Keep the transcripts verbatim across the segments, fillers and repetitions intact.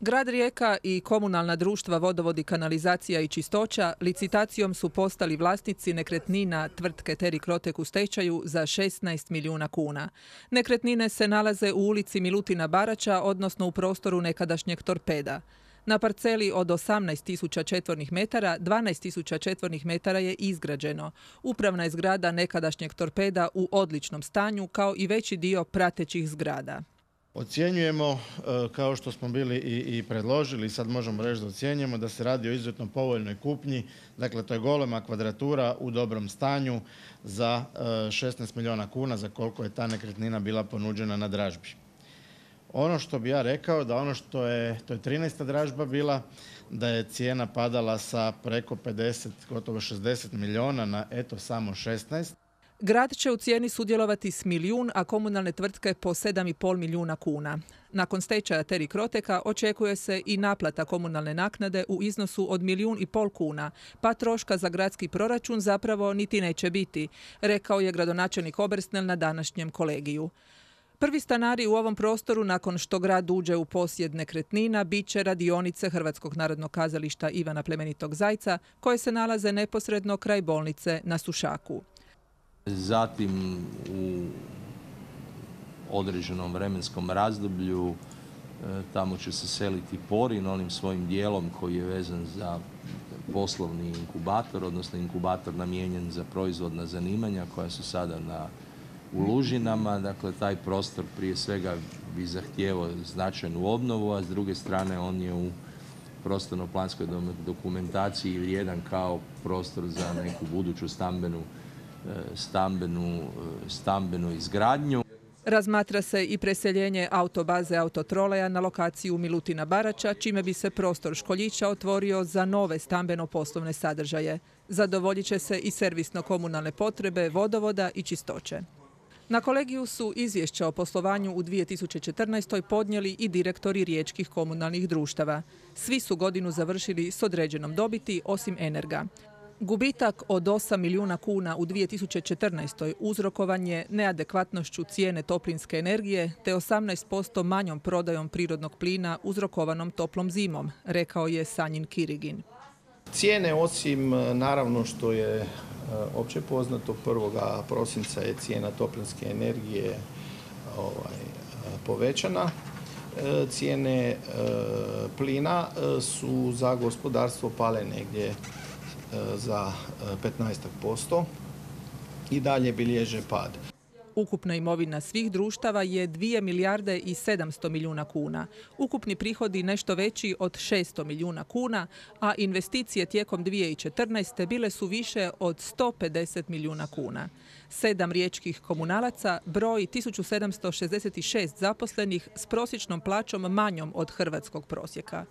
Grad Rijeka i komunalna društva Vodovod i kanalizacija i čistoća licitacijom su postali vlasnici nekretnina tvrtke Teri Crotek u stečaju za šesnaest milijuna kuna. Nekretnine se nalaze u ulici Milutina Baraća, odnosno u prostoru nekadašnjeg Torpeda. Na parceli od osamnaest tisuća četvornih metara, dvanaest tisuća četvornih metara je izgrađeno. Upravna je zgrada nekadašnjeg Torpeda u odličnom stanju, kao i veći dio pratećih zgrada. Ocjenjujemo, kao što smo bili i, i predložili, sad možemo reći da ocjenjujemo da se radi o izuzetno povoljnoj kupnji. Dakle, to je golema kvadratura u dobrom stanju za šesnaest milijuna kuna, za koliko je ta nekretnina bila ponuđena na dražbi. Ono što bi ja rekao, da ono što je, to je trinaesta dražba bila, da je cijena padala sa preko pedeset, gotovo šezdeset milijuna na eto samo šesnaest. Grad će u cijeni sudjelovati s milijun, a komunalne tvrtke po sedam i pol milijuna kuna. Nakon stečaja Teri Croteka očekuje se i naplata komunalne naknade u iznosu od milijun i pol kuna, pa troška za gradski proračun zapravo niti neće biti, rekao je gradonačelnik Obersnel na današnjem kolegiju. Prvi stanari u ovom prostoru, nakon što grad uđe u posjed nekretnina, bit će radionice Hrvatskog narodnog kazališta Ivana Plemenitog Zajca, koje se nalaze neposredno kraj bolnice na Sušaku. Zatim u određenom vremenskom razdoblju tamo će se seliti Porin onim svojim dijelom koji je vezan za poslovni inkubator, odnosno inkubator namijenjen za proizvodna zanimanja koja su sada na u Lužinama. Dakle, taj prostor prije svega bi zahtijevao značajnu obnovu, a s druge strane on je u prostorno-planskoj dokumentaciji vrijedan kao prostor za neku buduću stambenu stambenu, stambenu izgradnju. Razmatra se i preseljenje autobaze Autotroleja na lokaciju Milutina Baraća, čime bi se prostor Školjića otvorio za nove stambeno-poslovne sadržaje. Zadovoljit će se i servisno-komunalne potrebe vodovoda i čistoće. Na kolegiju su izvješća o poslovanju u dvije tisuće četrnaestoj podnijeli i direktori riječkih komunalnih društava. Svi su godinu završili s određenom dobiti, osim Energa. Gubitak od osam milijuna kuna u dvije tisuće četrnaestoj uzrokovan je neadekvatnošću cijene toplinske energije te osamnaest posto manjom prodajom prirodnog plina uzrokovanom toplom zimom, rekao je Sanjin Kirigin. Cijene, osim naravno što je opće poznato, prvog prosinca je cijena toplinske energije ovaj, povećana. Cijene plina su za gospodarstvo pale negdje za petnaest posto i dalje bilježe pad. Ukupna imovina svih društava je dvije milijarde i sedamsto milijuna kuna. Ukupni prihodi nešto veći od šesto milijuna kuna, a investicije tijekom dvije tisuće četrnaeste bile su više od sto pedeset milijuna kuna. Sedam riječkih komunalaca broji tisuću sedamsto šezdeset šest zaposlenih s prosječnom plaćom manjom od hrvatskog prosjeka.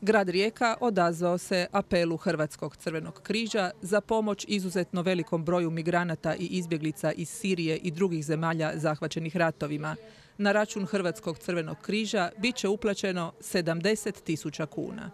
Grad Rijeka odazvao se apelu Hrvatskog crvenog križa za pomoć izuzetno velikom broju migranata i izbjeglica iz Sirije i drugih zemalja zahvaćenih ratovima. Na račun Hrvatskog crvenog križa bit će uplaćeno sedamdeset tisuća kuna.